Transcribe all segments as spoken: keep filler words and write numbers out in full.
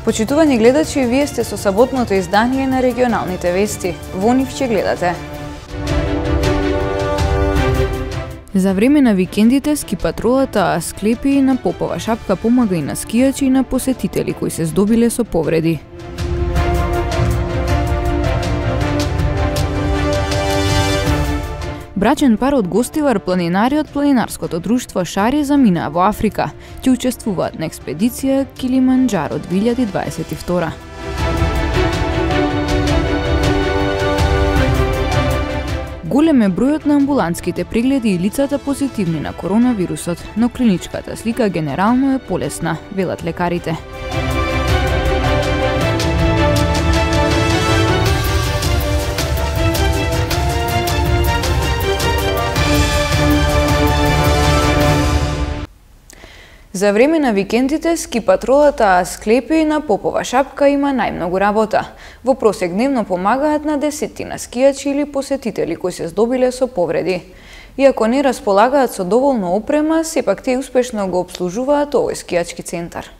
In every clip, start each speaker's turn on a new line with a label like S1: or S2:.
S1: Почитувани гледачи, вие сте со саботното издание на регионалните вести. Во нив ќе гледате. За време на викендите ски патролата Асклепи на Попова шапка помага и на скијачи и на посетители кои се здобиле со повреди. Брачен пар од Гостивар, планинари од планинарското друштво Шари заминаа во Африка. Ќе учествуваат на експедиција Килиманџаро две илјади дваесет и втора. Голем е бројот на амбулантските прегледи и лицата позитивни на коронавирусот, но клиничката слика генерално е полесна, велат лекарите. За време на викендите ски патролата Асклепи на Попова шапка има најмногу работа. Во просек дневно помагаат на десетина скијачи или посетители кои се здобиле со повреди. Иако не располагаат со доволно опрема, сепак те успешно го обслужуваат овој скијачки центар.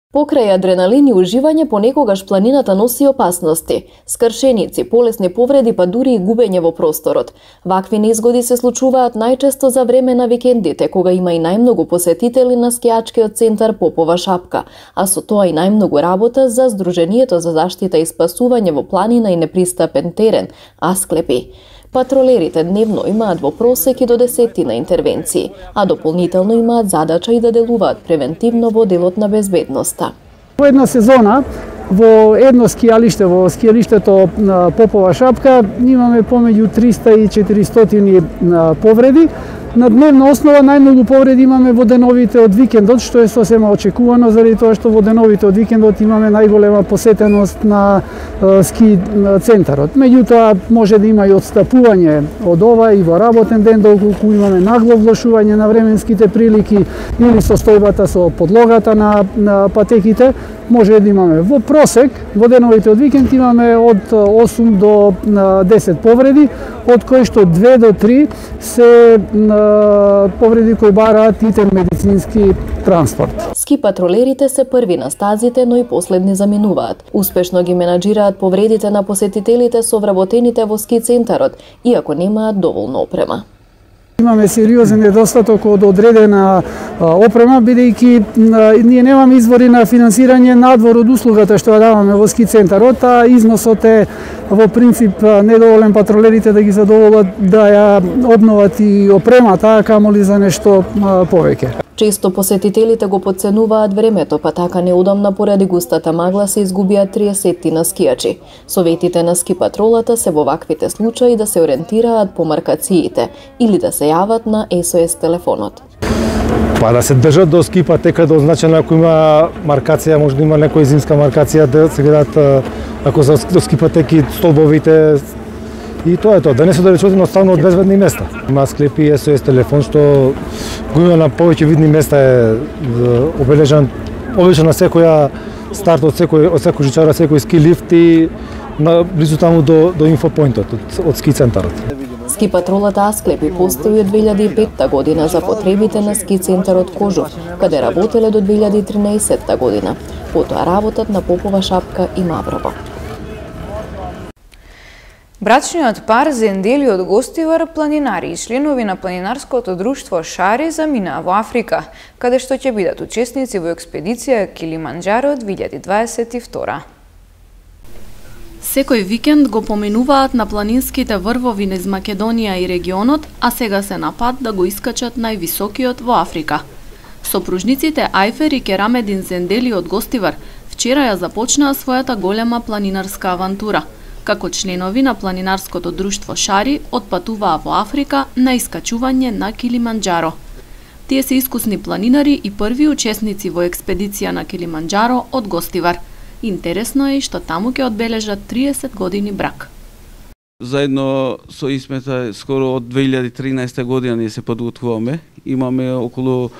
S2: Покрај адреналин и уживање, понекогаш планината носи опасности. Скршеници, полесни повреди, па дури и губење во просторот. Вакви незгоди се случуваат најчесто за време на викендите, кога има и најмногу посетители на скијачкиот центар Попова шапка, а со тоа и најмногу работа за Сдруженијето за заштита и спасување во планина и непристапен терен, Асклепи. Патролерите дневно имаат во просек и до десетина интервенции, а дополнително имаат задача и да делуваат превентивно во делот на безбедноста.
S3: Во една сезона, во едно скијалиште, во скијалиштето на Попова шапка, имаме помеѓу триста и четиристотини повреди. На дневна основа најмногу повреди имаме во деновите од викендот, што е сосема очекувано, заради тоа што во деновите од викендот имаме најголема посетеност на ски центарот. Меѓутоа, може да има и отстапување од ова и во работен ден, доколку имаме нагло влошување на временските прилики или состојбата со подлогата на, на патеките, може да имаме во просек, во деновите од викенд имаме од осум до десет повреди, од кои што две до три се повреди кои бараат итен медицински транспорт.
S2: Ски патролерите се први на стазите, но и последни заминуваат. Успешно ги менаџираат повредите на посетителите со вработените во ски центарот, иако немаат доволно опрема.
S3: Имаме сериозен недостаток од одредена опрема, бидејќи ние немаме извори на финансирање надвор од услугата што ја даваме во ски центарот, а износот е во принцип недоволен патролерите да ги задоволат да ја обноват и опремата, камоли за нешто повеќе.
S2: Често посетителите го потценуваат времето, па така неудобна поради густата магла се изгубиат триесеттина скијачи. Советите на ски патролата се во ваквите случаи да се ориентираат по маркациите или да се јават на ес о ес телефонот.
S4: Па да се држат до ски патека, да означено ако има маркација, може да има некоја зимска маркација, да се гледат ако за до ски патеки столбовите. И тоа е тоа, да не се далечат едноставно од безбедни места. Има Асклепи ес о ес телефон што го има на повеќе видни места, е обележан обично на секоја старт од секој од секој жичара, секој ски лифт и на близу таму до до инфопоинтот од, од ски центарот.
S2: Ски патролата Асклепи постои од две илјади и петта година за потребите на ски центарот Кожув, каде работеле до две илјади и тринаесетта година. Потоа работат на Попова шапка и Маврово.
S1: Брачниот пар Зендели од Гостивар, планинари и членови на планинарското друштво Шари заминаа во Африка, каде што ќе бидат учесници во експедиција Килиманџаро две илјади дваесет и втора.
S5: Секој викенд го поминуваат на планинските врвови низ Македонија и регионот, а сега се на пат да го искачат највисокиот во Африка. Сопружниците Ајфер и Керамедин Зендели од Гостивар вчера ја започнаа својата голема планинарска авантура. Како членови на планинарското друштво Шари отпатуваа во Африка на искачување на Килиманџаро. Тие се искусни планинари и први учесници во експедиција на Килиманџаро од Гостивар. Интересно е и што таму ќе одбележат триесет години брак.
S6: Заедно со Исмета скоро од две илјади и тринаесетта година ние се подготвуваме. Имаме околу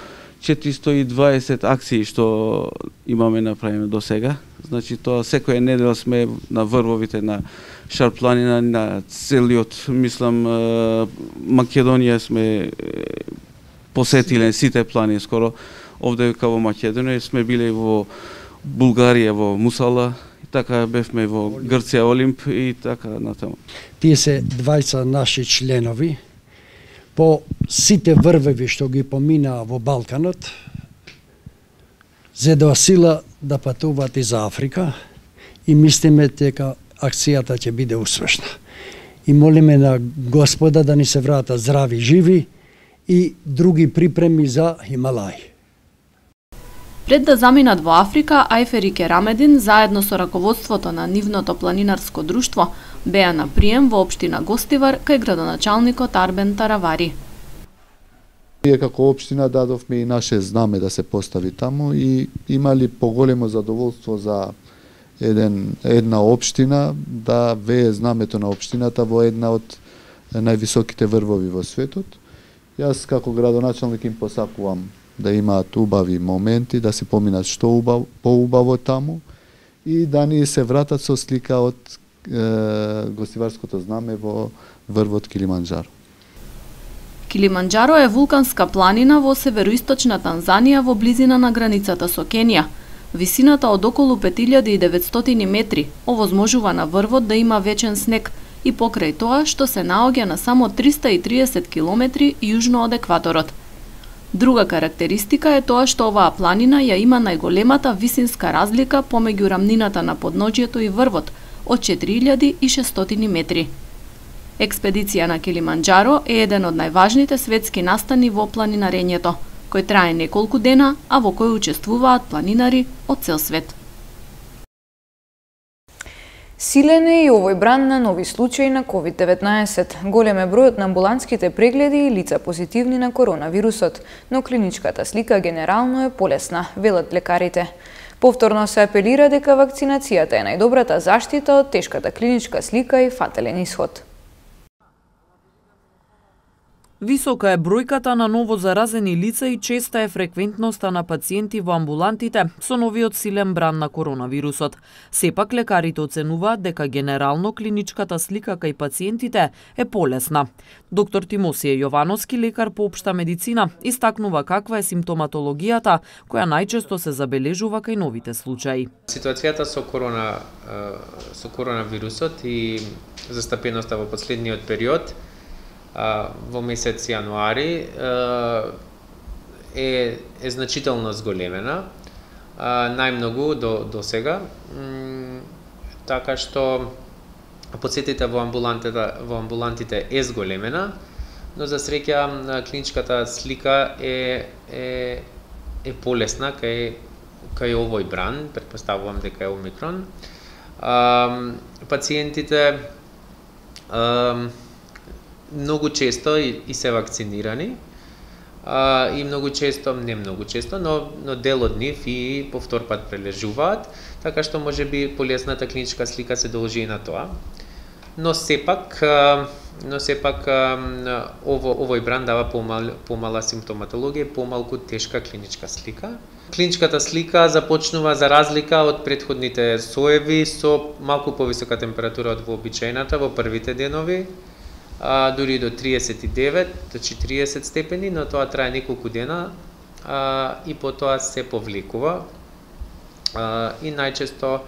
S6: четиристо и дваесет акции што имаме направено до сега. Значи тоа секоја недела сме на врвовите на Шар планина, на целиот, мислам, Македонија сме посетиле сите планини скоро. Овде као во Македонија сме биле во Булгарија во Мусала, и така бевме во Грција Олимп и така натаму.
S7: Тие се двајца наши членови по сите врвеви што ги поминаа во Балканот, зедоа сила да патуваат и за Африка и мислиме дека акцијата ќе биде успешна. И молиме на Господа да ни се вратат здрави, живи и други припреми за Хималај.
S5: Пред да заминат во Африка, Ајфер и Керамедин, заедно со раководството на нивното планинарско друштво, беа на прием во општина Гостивар кај градоначалникот Арбен Таравари.
S8: Ние како општина дадовме и наше знаме да се постави таму и имали поголемо задоволство за еден, една општина да вее знамето на општината во една од највисоките врвови во светот. Јас како градоначалник им посакувам да имаат убави моменти, да се поминат што убав, поубаво таму и да ни се вратат со слика од е, гостиварското знаме во врвот Килиманџаро.
S5: Килиманџаро е вулканска планина во североисточна Танзанија во близина на границата со Кенија. Висината од околу пет илјади и деветстотини метри овозможува на врвот да има вечен снег и покрај тоа што се наоѓа на само триста и триесет километри јужно од екваторот. Друга карактеристика е тоа што оваа планина ја има најголемата висинска разлика помеѓу рамнината на подножјето и врвот од четири илјади и шестстотини метри. Експедиција на Килиманџаро е еден од најважните светски настани во планинарењето, кој трае неколку дена, а во кој учествуваат планинари од цел свет.
S1: Силен е и овој бран на нови случаи на ковид деветнаесет. Голем е бројот на амбулантските прегледи и лица позитивни на коронавирусот, но клиничката слика генерално е полесна, велат лекарите. Повторно се апелира дека вакцинацијата е најдобрата заштита од тешката клиничка слика и фатален исход.
S9: Висока е бројката на ново заразени лица и честа е фреквентноста на пациенти во амбулантите со новиот силен бран на коронавирусот. Сепак лекарите оценуваат дека генерално клиничката слика кај пациентите е полесна. Доктор Тимосије Јовановски, лекар по општа медицина, истакнува каква е симптоматологијата која најчесто се забележува кај новите случаи.
S10: Ситуацијата со корона со коронавирусот и застапеноста во последниот период во месец јануари е, е значително зголемена, најмногу до, до сега, така што посетите во амбулантите, во амбулантите е зголемена, но за среќа клиничката слика е, е, е полесна кај, кај овој бран, претпоставувам дека е омикрон. Пациентите многу често и, и се вакцинирани а, и многу често, не многу често, но, но дел од нив и повтор пат прележуваат, така што може би полесната клиничка слика се должи и на тоа. Но сепак, но сепак ово, овој бран дава помал, помала симптоматологија, помалку тешка клиничка слика. Клиничката слика започнува за разлика од претходните соеви со малку повисока температура од вообичаената во првите денови, а, дури до триесет и девет до четириесет степени, но тоа трае неколку дена а, и потоа се повлекува а, и најчесто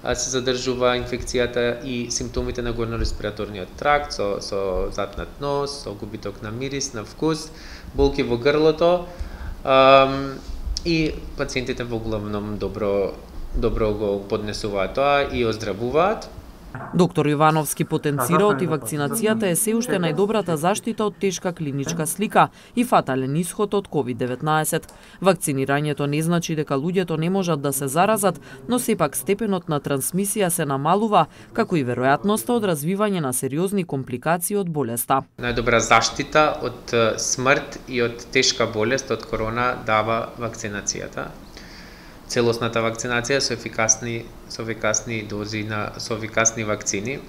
S10: а, се задржува инфекцијата и симптомите на горно-респираторниот тракт со, со затнат нос, со губиток на мирис, на вкус, болки во грлото а, и пациентите во главном добро, добро го поднесуваат тоа и оздравуваат.
S9: Доктор Јовановски потенцира оти вакцинацијата е се уште најдобрата заштита од тешка клиничка слика и фатален исход од ковид деветнаесет. Вакцинирањето не значи дека луѓето не можат да се заразат, но сепак степенот на трансмисија се намалува, како и веројатноста од развивање на сериозни компликации од болеста.
S10: Најдобра заштита од смрт и од тешка болест од корона дава вакцинацијата. Целосната вакцинација со ефикасни со ефикасни дози на со ефикасни вакцини.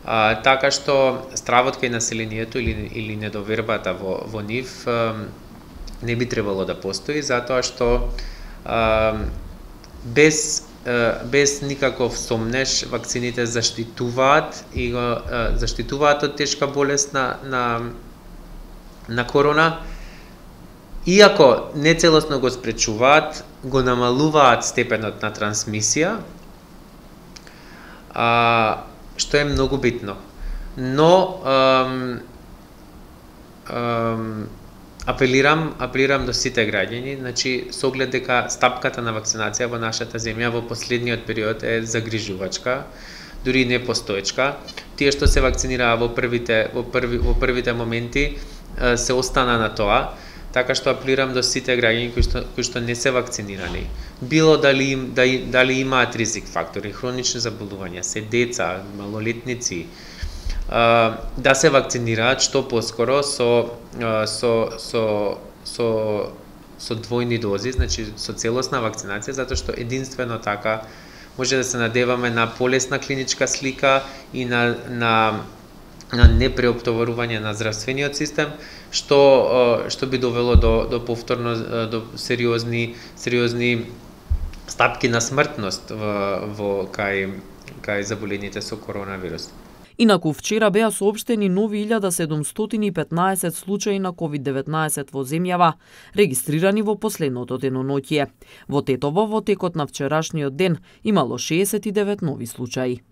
S10: А, така што стравот кај населението или или недовербата во во нив а, не би требало да постои, затоа што а, без а, без никаков сомнеш вакцините заштитуваат и го а, заштитуваат од тешка болест на на на корона. Иако нецелосно го спречуваат, го намалуваат степенот на трансмисија, а, што е многу битно. Но ам, ам, апелирам, апелирам до сите граѓани, значи со оглед дека стапката на вакцинација во нашата земја во последниот период е загрижувачка, дури не постоечка. Тие што се вакцинираа во првите во први во првите моменти се остана на тоа, така што апелирам до сите граѓани кои што кои што не се вакцинирани. Било дали им дали, дали имаат ризик фактори, хронични заболувања, се деца, малолетници, да се вакцинираат што поскоро со со со со со двојни дози, значи со целосна вакцинација, затоа што единствено така може да се надеваме на полесна клиничка слика и на на на непреоптоварување на здравствениот систем, што што би довело до до повторно до сериозни сериозни стапки на смртност во во кај кај заболените со коронавирус.
S9: Инаку вчера беа соопштени нови илјада седумстотини и петнаесет случаи на ковид деветнаесет во земјава, регистрирани во последното деноноќие. Во Тетово во текот на вчерашниот ден имало шеесет и девет нови случаи.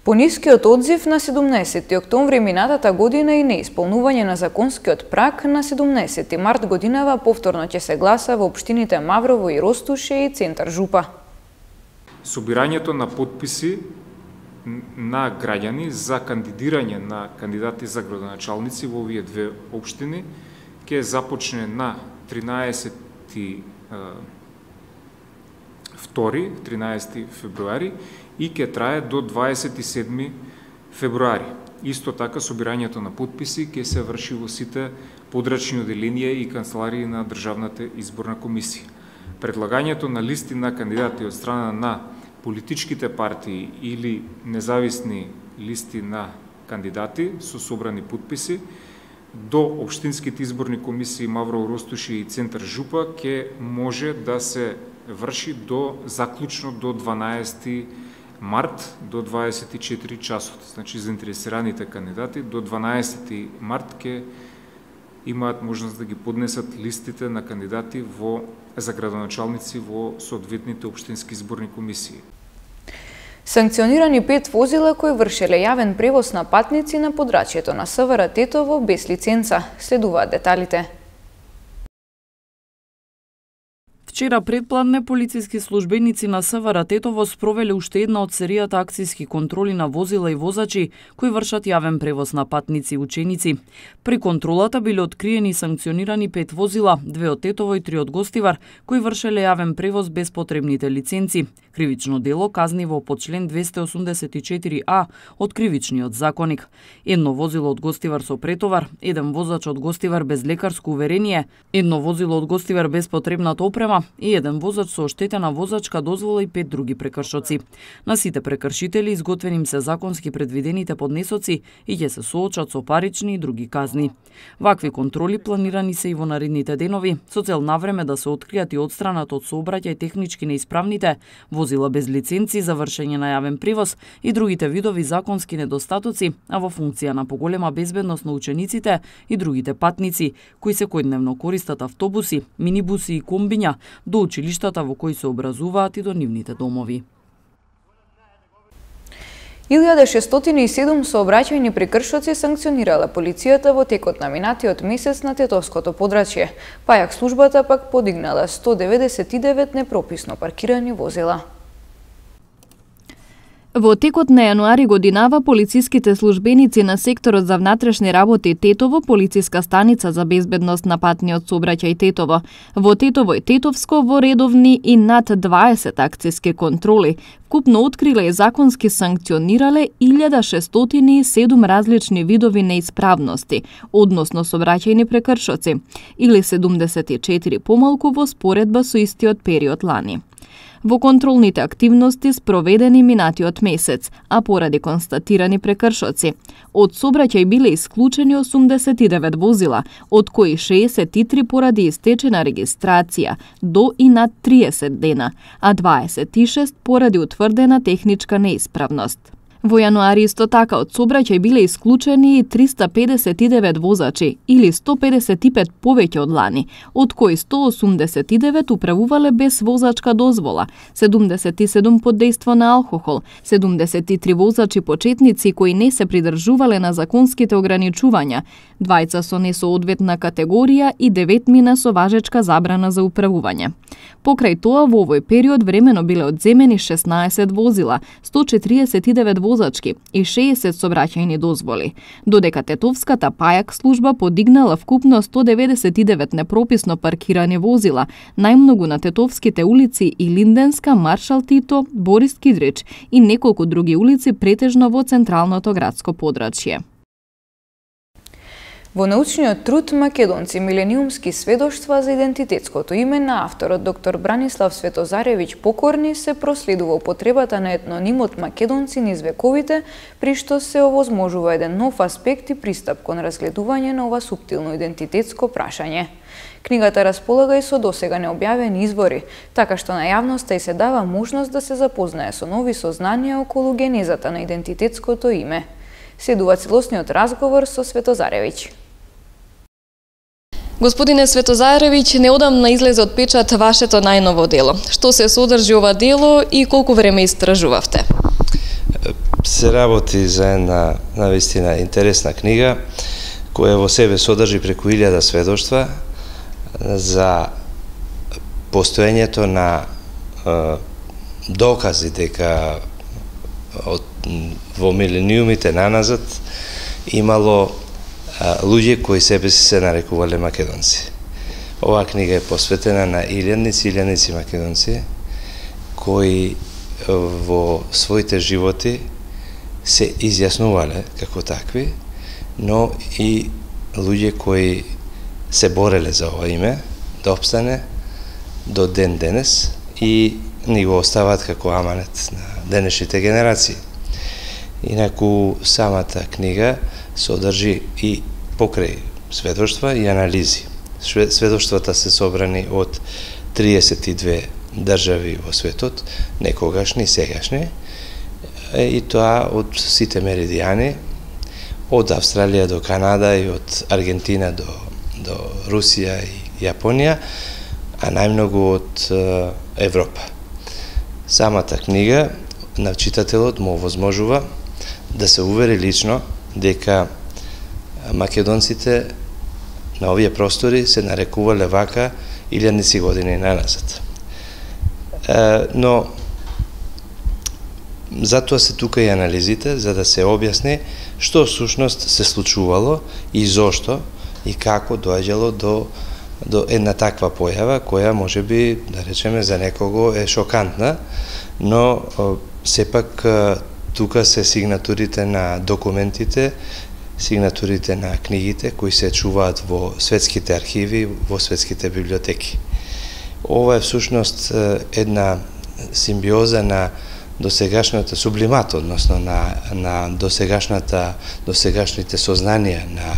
S1: Понискиот одзив на седумнаесети октомври минатата година и неисполнување на законскиот праг на седумнаесети март годинава повторно ќе се гласа во општините Маврово и Ростуше и Центар Жупа.
S11: Собирањето на потписи на граѓани за кандидирање на кандидати за градоначалници во овие две општини ќе започне на тринаесети втори, тринаесети февруари и ќе трае до дваесет и седми февруари. Исто така собирањето на потписи ќе се врши во сите подрачни оделенија и канцеларии на Државната изборна комисија. Предлагањето на листи на кандидати од страна на политичките партии или независни листи на кандидати со собрани потписи до општинските изборни комисии Маврово, Ростуши и Центар Жупа ќе може да се врши до заклучно до дванаесети март до дваесет и четири часот. Значи заинтересираните кандидати до дванаесети март ќе имаат можност да ги поднесат листите на кандидати во за градоначалници во соодветните општински изборни комисии.
S1: Санкционирани пет возила кои вршеле јавен превоз на патници на подрачјето на СВР Тетово без лиценца. Следуваат деталите.
S9: Вчера предпладне полициски службеници на СВР Тетово спровеле уште една од серијата акцијски контроли на возила и возачи кои вршат јавен превоз на патници и ученици. При контролата биле откриени и санкционирани пет возила, две од Тетово и три од Гостивар, кои вршеле јавен превоз без потребните лиценци. Кривично дело казниво по член двесте осумдесет и четири а од Кривичниот законник. Едно возило од Гостивар со претовар, еден возач од Гостивар без лекарско уверение, едно возило од Гостивар без потребната опрема и еден возач со оштетена возачка дозвола и пет други прекршоци. На сите прекршители изготвени им се законски предвидените поднесоци и ќе се соочат со парични и други казни. Вакви контроли планирани се и во наредните денови со цел навреме да се откријат и одстранат од сообраќај технички неисправните возила без лиценци за вршење на јавен превоз и другите видови законски недостатоци, а во функција на поголема безбедност на учениците и другите патници кои секојдневно користат автобуси, минибуси и комбиња до училиштата во кои се образуваат и до нивните домови.
S1: илјада шестстотини и седум сообраќајни прекршоци санкционирала полицијата во текот на минатиот месец на Тетовското подрачје, па јак службата пак подигнала сто деветдесет и девет непрописно паркирани возила.
S2: Во текот на јануари годинава полициските службеници на секторот за внатрешни работи Тетово, полициска станица за безбедност на патниот сообраќај Тетово, во Тетово и Тетовско во редовни и над дваесет акцијски контроли, вкупно откриле и законски санкционирале илјада шестстотини и седум различни видови неисправности, односно сообраќајни прекршоци, или седумдесет и четири помалку во споредба со истиот период лани. Во контролните активности спроведени минатиот месец, а поради констатирани прекршоци, од сообраќај биле исклучени осумдесет и девет возила, од кои шеесет и три поради истечена регистрација до и над триесет дена, а дваесет и шест поради утврдена техничка неисправност. Во јануари исто така од сообраќај биле исклучени триста педесет и девет возачи или сто педесет и пет повеќе од лани, од кои сто осумдесет и девет управувале без возачка дозвола, седумдесет и седум под дејство на алкохол, седумдесет и три возачи почетници кои не се придржувале на законските ограничувања, двајца со несоодветна категорија и деветмина со важечка забрана за управување. Покрај тоа, во овој период времено биле одземени шеснаесет возила, сто четириесет и девет возачки и шеесет сообраќајни дозволи, додека Тетовската пајак служба подигнала вкупно сто деветдесет и девет непрописно паркирани возила, најмногу на Тетовските улици и Линденска, Маршал Тито, Борис Кидрич и неколку други улици претежно во централното градско подрачје.
S1: Во научниот труд Македонци милениумски сведоштва за идентитетското име на авторот доктор Бранислав Светозаревиќ Покорни се проследува употребата на етнонимот Македонци низ вековите, при што се овозможува еден нов аспект и пристап кон разгледување на ова суптилно идентитетско прашање. Книгата располага и со досега необјавени извори, така што на јавноста и се дава можност да се запознае со нови сознанија околу генезата на идентитетското име. Следува целосниот разговор со Светозаревиќ.
S2: Господине Светозаревиќ, неодамна излезе од печат вашето најново дело. Што се содржи ова дело и колку време истражувавте?
S12: Се работи за една навистина интересна книга, која во себе содржи преку илјада сведоштва за постоењето на е, докази дека од, во милениумите наназад имало луѓе кои себе си се нарекувале македонци. Оваа книга е посветена на илјадници, илјадници македонци кои во своите животи се изјаснувале како такви, но и луѓе кои се бореле за ова име да обстане до ден денес и ни го остават како аманет на денешните генерации. Инаку самата книга содржи и покрај сведоштва и анализи. Сведоштвата се собрани од триесет и две држави во светот, некогашни и сегашни, и тоа од сите меридијани, од Австралија до Канада и од Аргентина до, до Русија и Јапонија, а најмногу од Европа. Самата книга на читателот му овозможува да се увери лично дека македонците на овие простори се нарекувале вака илјадници години наназад. Но затоа се тука и анализите, за да се објасни што всушност се случувало и зошто и како доаѓало до до една таква појава која можеби, да речеме, за некого е шокантна, но сепак тука се сигнатурите на документите, сигнатурите на книгите кои се чуваат во светските архиви, во светските библиотеки. Ова е всушност една симбиоза на досегашната сублимат, односно на, на досегашната, досегашните сознанија на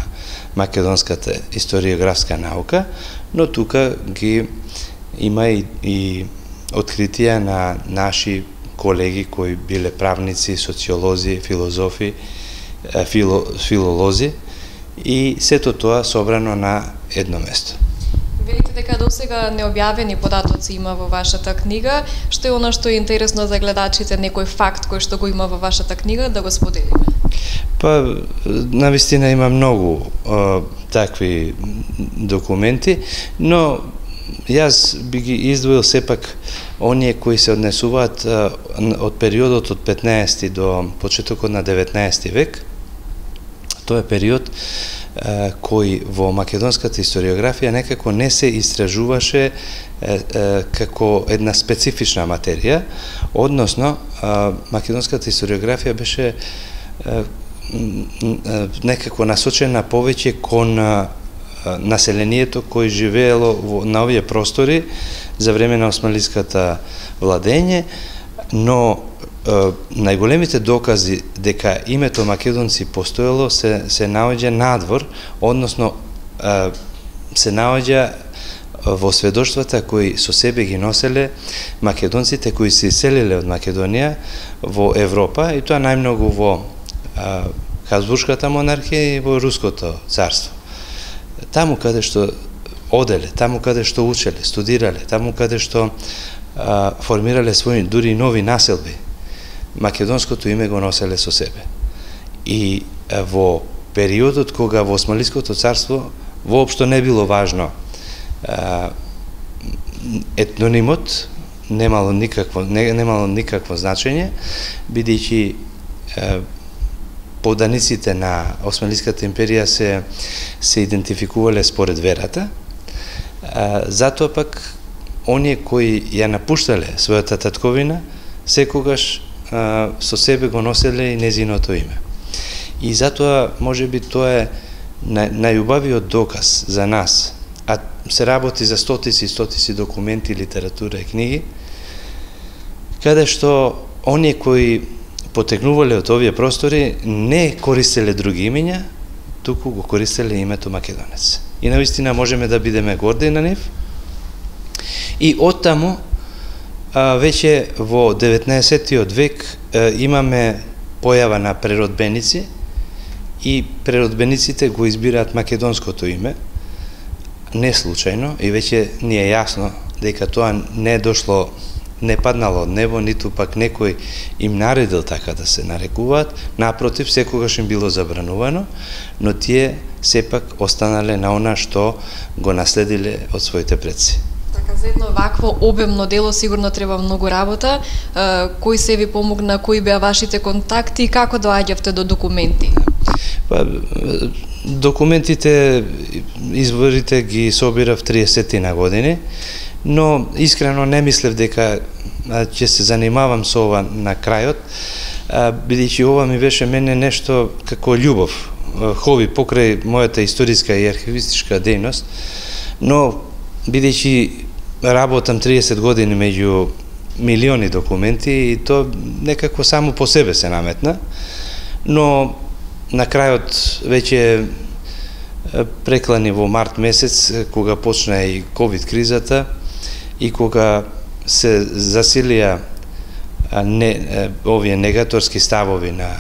S12: македонската историографска наука, но тука ги има и, и откритија на наши колеги кои биле правници, социолози, филозофи, фило, филолози и сето тоа собрано на едно место.
S2: Велите дека досега необјавени податоци има во вашата книга. Што е она што е интересно за гледачите, некој факт кој што го има во вашата книга, да го споделиме?
S12: Па, навистина има многу а, такви документи, но јас би ги издвоил сепак оние кои се однесуваат а, од периодот од петнаесети до почетокот на деветнаесети век. Тоа е период а, кој во македонската историографија некако не се истражуваше а, а, како една специфична материја, односно а, македонската историографија беше а, некако насочена повеќе кон а, населението кој живеело во, на овие простори за време на османлиската владење, но е, најголемите докази дека името македонци постоело се, се наоѓа надвор, односно е, се наоѓа во сведоштвата кои со себе ги носеле македонците кои се иселиле од Македонија во Европа, и тоа најмногу во Хабсбуршката монархија и во Руското царство. Таму каде што оделе, таму каде што учеле, студирале, таму каде што а, формирале своји дури нови населби, македонското име го носеле со себе. И а, во периодот кога во Османлиското царство воопшто не било важно а, етнонимот, немало никакво не, немало никакво значење, бидејќи поданиците на Османлиската империја се се идентификувале според верата. А, затоа пак оние кои ја напуштале својата татковина секогаш а, со себе го носеле и незиното име. И затоа можеби тоа е нај, најубавиот доказ за нас, а се работи за стотици и стотици документи, литература и книги, каде што оние кои потекнувале од овие простори не користеле други имења, туку го користеле името македонец. И навистина можеме да бидеме горди на нив. И оттаму а, веќе во деветнаесеттиот век а, имаме појава на преродбеници, и преродбениците го избираат македонското име, не случајно, и веќе ни е јасно дека тоа не е дошло, не паднало од небо, ниту пак некој им наредил така да се нарекуваат, напротив, секогаш им било забранувано, но тие сепак останале на она што го наследиле од своите предци.
S2: Така, за едно вакво обемно дело сигурно треба многу работа. Кој се ви помогна, кои беа вашите контакти и како доаѓавте до документи?
S12: Па, документите, изворите ги собирав триесет на години, но искрено не мислев дека ќе се занимавам со ова на крајот, бидејќи ова ми беше мене нешто како љубов, хоби покрај мојата историска и архивистичка дејност, но бидејќи работам триесет години меѓу милиони документи, и тоа некако само по себе се наметна, но на крајот веќе преклани во март месец, кога почна и ковид кризата и кога се засилија не, овие негаторски ставови на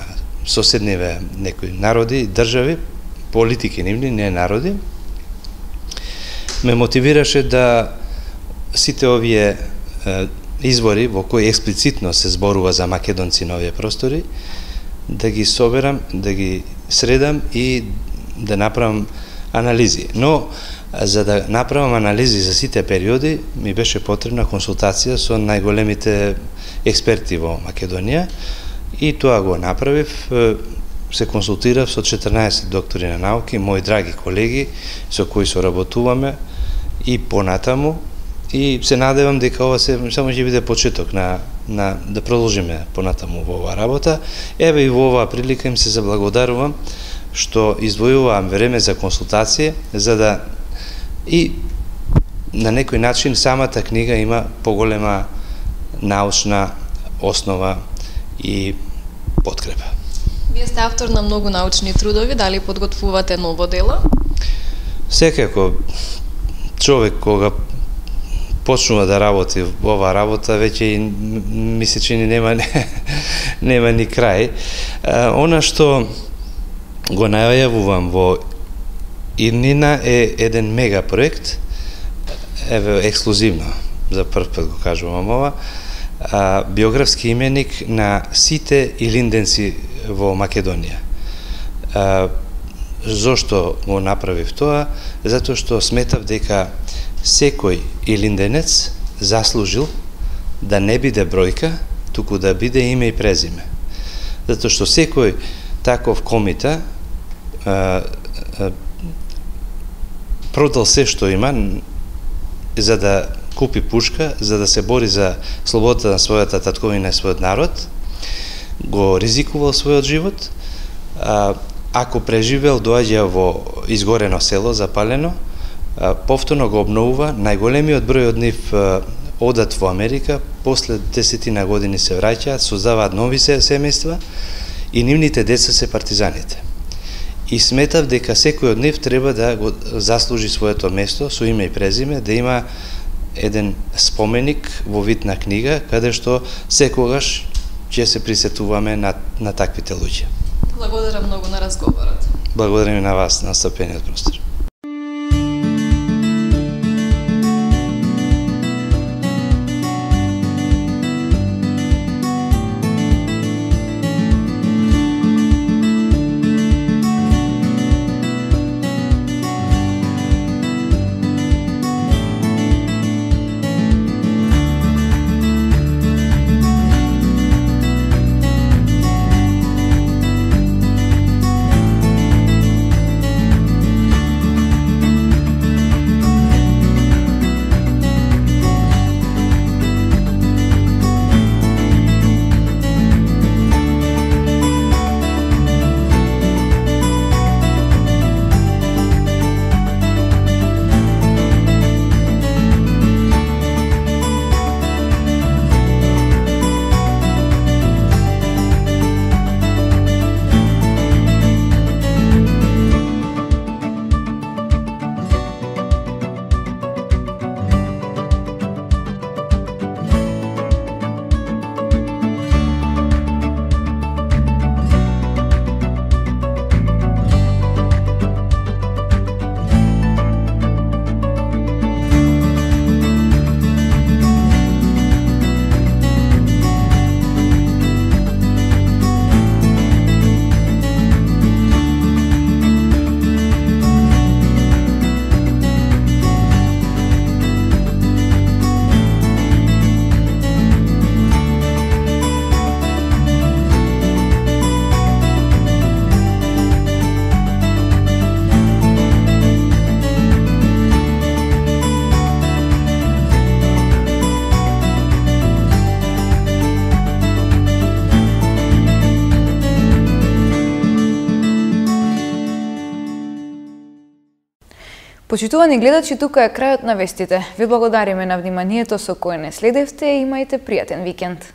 S12: соседниве некои народи, држави, политики нивни, не народи, ме мотивираше да сите овие извори во кои експлицитно се зборува за македонци на овие простори, да ги соберам, да ги средам и да направам анализи. Но за да направам анализи за сите периоди, ми беше потребна консултација со најголемите експерти во Македонија, и тоа го направив. Се консултирав со четрнаесет доктори на науки, мои драги колеги со кои соработуваме и понатаму, и се надевам дека ова се само ќе биде почеток на, на да продолжиме понатаму во оваа работа. Еве и во оваа прилика им се заблагодарувам што издвојувам време за консултација, за да и на некој начин самата книга има поголема научна основа и подкрепа.
S2: Вие сте автор на многу научни трудови, дали подготвувате ново дело?
S12: Секако човек кога почнува да работи во оваа работа, веќе ми се чини нема нема ни крај. Она што го најавувам во иднина е еден мега проект, еве ексклузивно, за прв пат го кажувам ова, а, биографски именик на сите илинденци во Македонија. А, зошто го направив тоа? Затоа што сметав дека секој илинденец заслужил да не биде бројка, туку да биде име и презиме. Затоа што секој таков комита а, а, продал се што има за да купи пушка, за да се бори за слободата на својата татковина и својот народ, го ризикувал својот живот, а, ако преживел, доаѓа во изгорено село, запалено, а, повторно го обновува, најголемиот број од нив а, одат во Америка, после десетина години се враќаат, создаваат нови семејства и нивните деца се партизаните. и сметав дека секој од нив треба да го заслужи своето место со име и презиме, да има еден споменик во вид на книга, каде што секогаш ќе се присетуваме на, на таквите луѓе.
S13: Благодарам многу на разговорот.
S12: Благодарам и на вас, на настапениот простор.
S1: Почитувани гледачи, тука е крајот на вестите. Ви благодариме на вниманието со кое не следевте и имајте пријатен викенд.